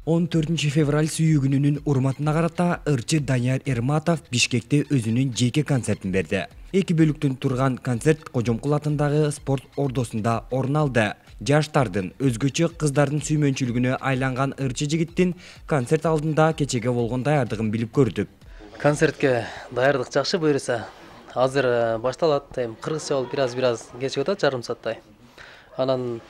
14 февраль сүйүү күнүнүн урматына карата ырчы Данияр Эрматов Бишкекте өзүнүн жеке концертин берди. 2 бөлүктөн турган концерт Кожомкул атындагы спорт ордосунда орун алды. Жаштардын, өзгөчө кыздардын сүймөнчүлүгүнө айланган ырчы жигиттин концерт алдында кечеге болгон даярдыгын билип көрдүк. Концертке даярдык жакшы буюрса. Азыр башталат. Кыргызча болуп бир-аз кечип атат, жарым сааттай. Анан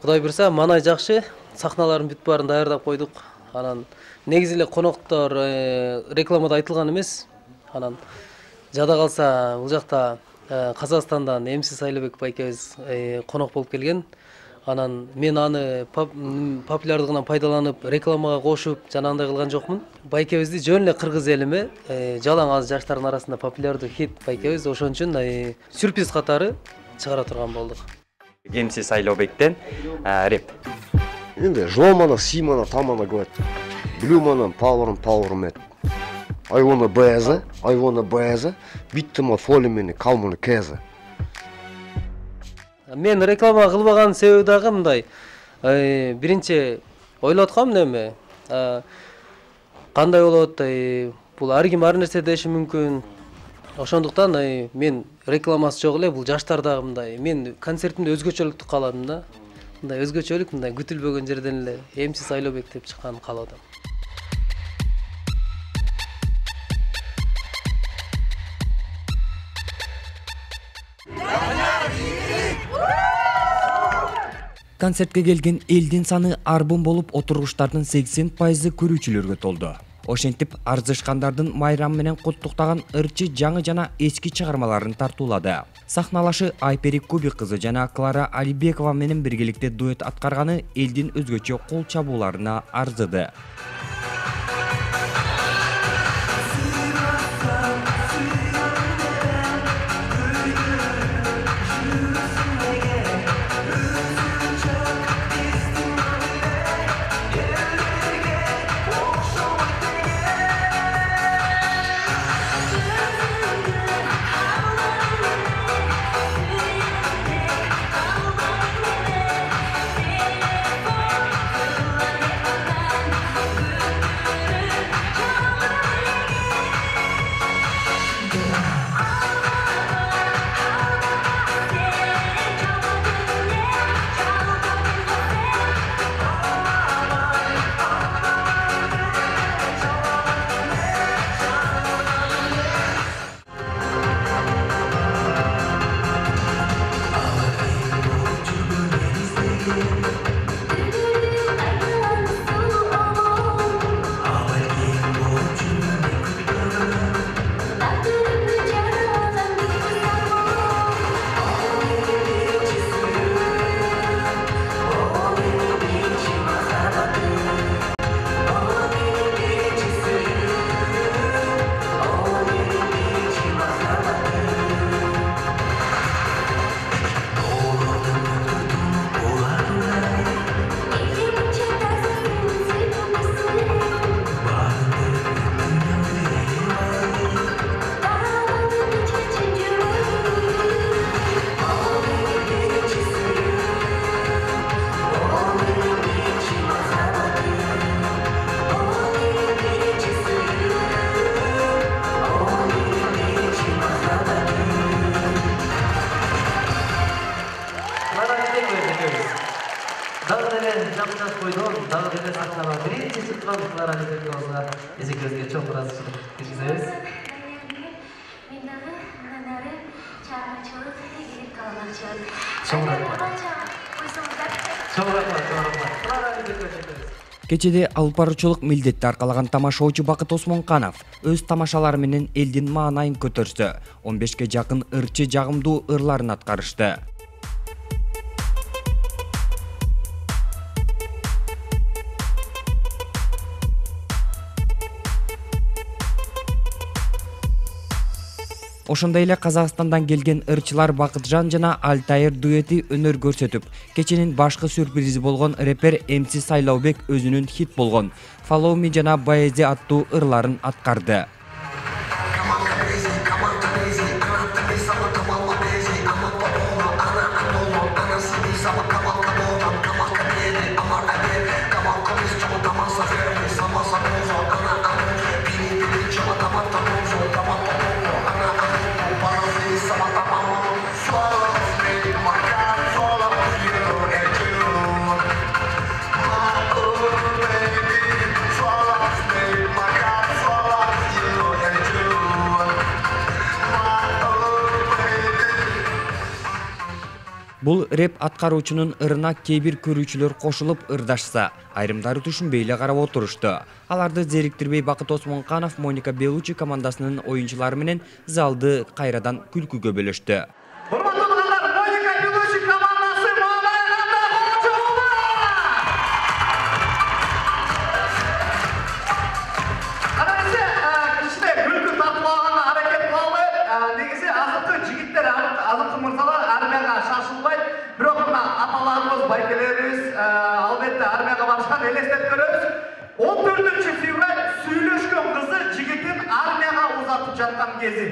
Кудай буюрса, манай жакшы. Сахналарын бүт баарын даярдап койдук. Анан негизи эле коноктор рекламада айтылган эмес. Анан жада калса бул жакта Казакстандан МС Сайлообек байкебиз конок болуп келген. Анан мен аны популярдыгынан пайдаланып, рекламага кошуп, жанагындай кылган жокмун. Байкебизди жөн эле кыргыз элиме, жалаң аз жаштардын арасында популярдуу хит байкебиз, ошон үчүн сюрприз катары чыгара турган болдук. МС Сайлообектен реп. Енді жуамана, симана, тамана говорит. Блюмана, power. I wanna beza, биттима фолимени, калманы кеза. Мен реклама кылбаган себеби дагы мындай. Биринчи ойлоп аткам неме? Кандай болот? Бул ар ким ар нерсе деши мүмкүн. Ошондуктан мен рекламасы жок эле, бул жаштардагы мындай. Мен концертимде өзгөчөлүктү кааладым да. Мындай өзгөчөлүк, мындай күтүлбөгөн жерден эле МС Сайлообек деп чыкканын кааладым. Концертке келген элдин саны арбын болуп, отургучтардын 80% көрүүчүлөргө толду. Ошентип, арзышкандардын майрам менен куттуктаган ырчы жаңы жана эски чыгармаларын тартуулады. Сахналашы Айпери Кубик кызы жана Клара Алибекова менен биргеликте дуэт аткарганы элдин өзгөчө кол чабууларына арзыды. Кечеде алып баруучулук милдетти аркалаган тамашоочу Бакыт Осмонканов өз тамашалары менен элдин маанайын көтөрсө, 15ке жакын ырчы жагымдуу ырларын аткарышты. Ошондой эле Казакстандан келген ырчылар Бакытжан жана Алтайыр дуэти өнөр көрсөтүп, кеченин башкы сюрпризи болгон репер МС Сайлообек өзүнүн хит болгон Follow Me жана Баези аттуу ырларын аткарды. Бул рэп аткаруучунун ырына кээ бир көрүүчүлөр кошулуп ырдашса, айрымдары түшүнбөй эле карап отурушту. Аларды зериктирбей Бакыт Осмонканов Моника Белучи командасынын оюнчулары менен залды кайрадан күлкүгө бөлөштү. Албетте армияга барышкан элестетип көрөбүз. 14 февраль сүйлөшкөн кызы жигитин армияга узатып жаткан кези.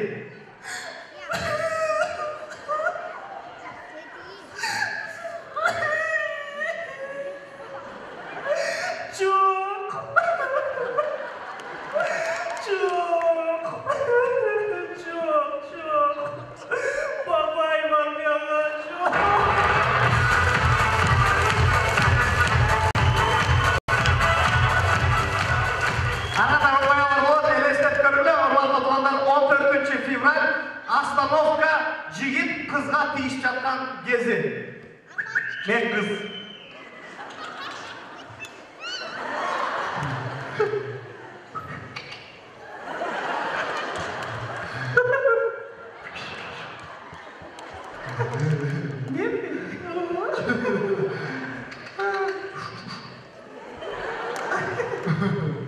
Остановка жигит кызга тийип жаткан кези. Мен кыз.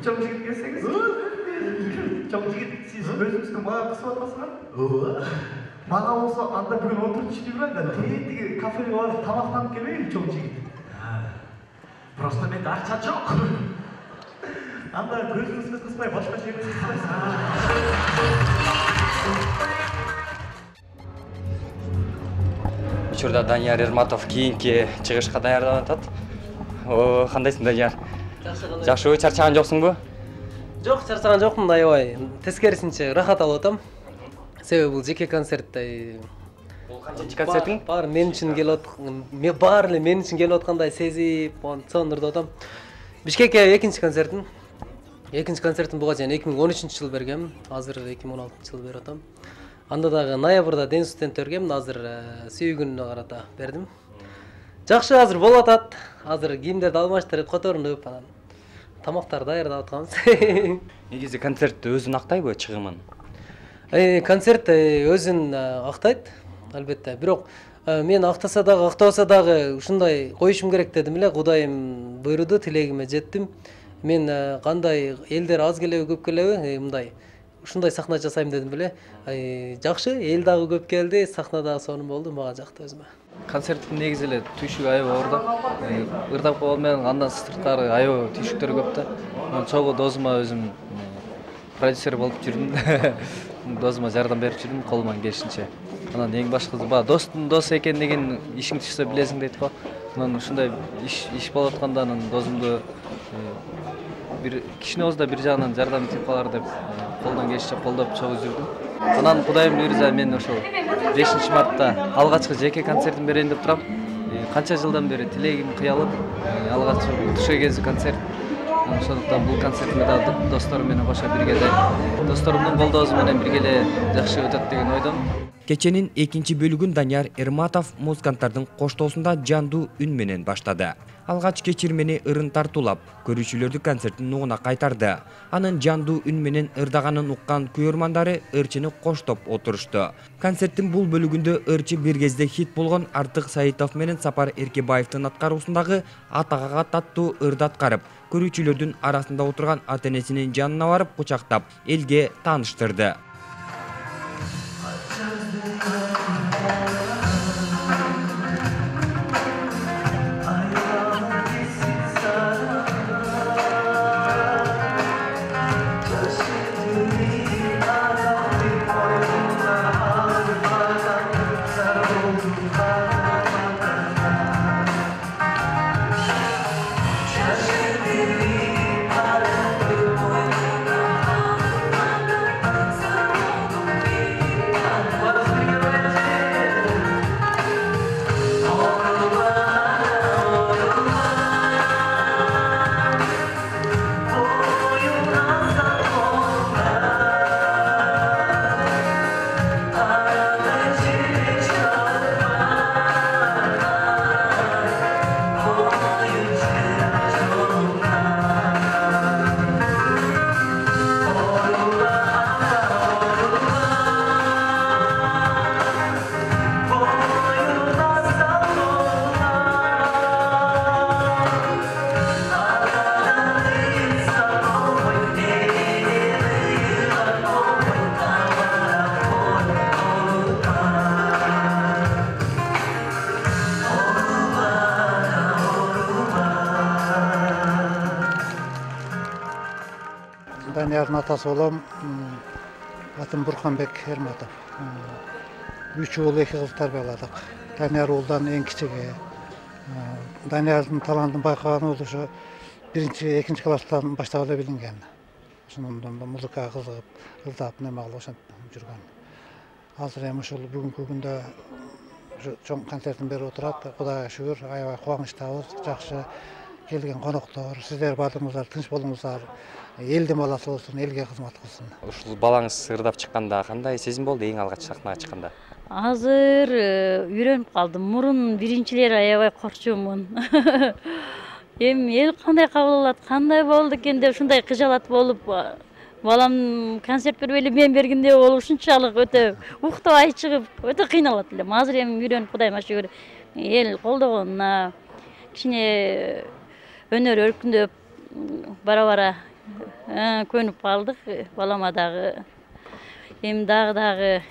Чоң жигит келсеңиз. Чоң жигит сиз өзүңүздү мага кысып атасыңар? Мага болсо анда бүгүн 14 февралда тиги кафеге барып тамактанып келбейби чоң жигит? Просто менде акча жок. Анда көзүңүзгө кыспай башка жерге кыспайсыз. Учурда Данияр Эрматов кийинки чыгышка даярданып атат. Кандайсың, Данияр? Жакшыбы, чарчаган жоксуңбу? Жок, чарчаган жокмун, аябай. Тескерисинче рахат алып атам. Себеби бул жеке концерт. Бул канчынчы концертиң? Баары мен үчүн келип баары эле мен үчүн келип аткандай сезип, сонурдуп атам. Бишкекке экинчи концертим. Экинчи концертим буга чейин 2013-жылы бергем. Азыр 2016-жылы берип атам. Анда дагы ноябрда Ден студент бергем, азыр сүйгүнүнө карата бердим. Жакшы, азыр болуп атат. Азыр кийимдерди алмаштырып, которунуп, анан тамактарды даярдап атканбыз. Негизи концерт өзүн актайбы чыгымын? Концерт өзүн актайт, албетте. Бирок мен актаса дагы, актабаса дагы ушундай коюшум керек дедим эле. Кудайым буйруду, тилегиме жеттим. Мен кандай элдер аз келеби, көп келеби, мындай ушундай сахна жасайм дедим эле. Жакшы, эл дагы көп келди, сахна дагы сонун болду, мага жакты өзүмө. Концерттин негизи эле түйшүгү аябай оор. Ырдап койгон менен андан сырткары аябай түйшүктөр көп да. Мен чогуу досума өзүм продюсер болуп жүрдүм. Досума жардам берип жүрдүм колуман келишинче. Анан эң башкысы достун досу экендигин ишиң чыкса билесиң дейт го. Анан ушундай иш болуп атканда анан досумду бир кичине болсо да бир жагынан жардам этип калар деп колдон келишинче колдоп чогуу жүрдүм. Анан Кудайым буйрса мен ошол 5 мартта алгачкы жеке концертим берейин деп турам. Канча жылдан бери тилегим кыялып, алгачкы тушка кези концерт. Ошондуктан бул концертиме да досторум менен кошо бирге досторумдун колдоосу менен бирге эле жакшы өтөт деген ойдомун. Кеченин экинчи бөлүгүн Данияр Эрматов музыканттардын коштоосунда жандуу үн менен баштады. Алгач кечирмени ырын тартуулап, көрүүчүлөрдү концерттин нугуна кайтарды. Анын жандуу үн менен ырдаганын уккан көрөрмандары ырчыны коштоп отурушту. Концерттин бул бөлүгүндө ырчы бир кезде хит болгон Артык Саитов менен Сапар Эркебаевдин аткаруусундагы Атагага аттуу ырды аткарып, көрүүчүлөрдүн арасында отурган ата-энесинин жанына барып кучактап, элге тааныштырды. Даниярдын атасы болом. Атым Бурканбек Эрматов. 3 уул 2 кыз тарбияладык. Данияр уулдан эң кичиги. Даниярдын талантын байкаган уул ошо 1-2 класстан баштап эле билинген. Ошондон музыкага кызыгып, ырдап неме кылып ошентип жүргөн. Азыр эми ушул бүгүнкү күндө чоң концертин берип отурат. Кудайга шүгүр, аябай кубанычтабыз. Жакшы келген коноктор, сиздер баардыгыңыздар тынч болуңуздар. Элдин баласы болсун, элге кызмат кылсын. Ушул балаңыз ырдап чыкканда кандай сезим болду эң алгач сахнага чыкканда? Азыр үйрөнүп калдым. Мурун биринчилери аябай корчумун. Эми эл кандай кабыл алат, кандай болду экен деп ушундай кыжалат болуп, балам концерт бербейли мен бергенде ол ушунчалык өтө уктабай чыгып, өтө кыйналат элем. Азыр эми үйрөнүп Кудайыма шүгүр эл колдогонуна, кичине өнөр өркүндөп бара-бара көнүп калдык. Балама дагы эми дагы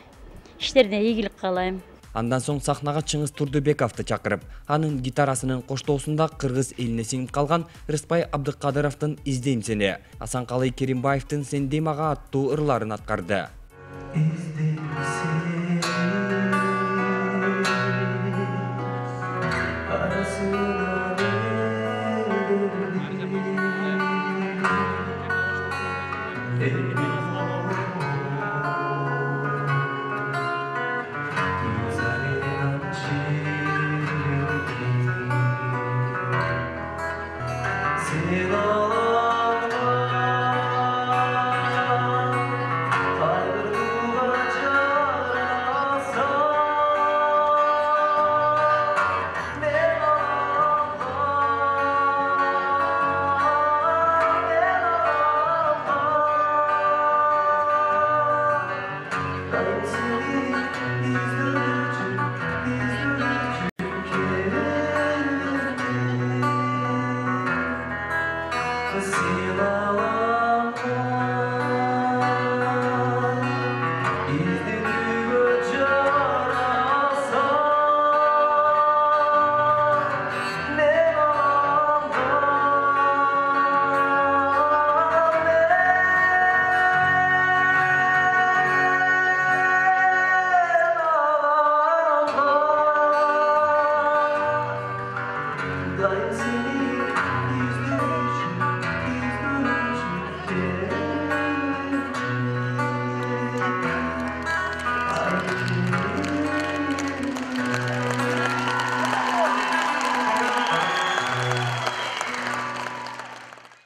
иштерине ийгилик каалайм. Андан соң сахнага Чыңгыз Турдубековду чакырып, анын гитарасынын коштоосунда кыргыз эline сиңип калган Рыспай Абдыкадыровдун «Издейм сени», Асанкалый Керимбаевдин «Сен дей мага» аттуу ырларын аткарды.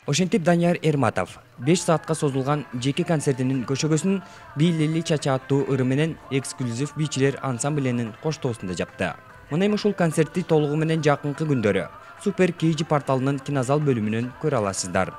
Ошентип Данияр Эрматов 5 саатка созулган жеке концертинин көшөгөсүн Бийлели Чача аттуу ыры менен эксклюзив бийчилер ансамбленин коштоосунда жапты. Мына эми ушул концертти толугу менен жакынкы күндөрү Супер KG порталынын кинозал бөлүмүнөн көрө аласыздар.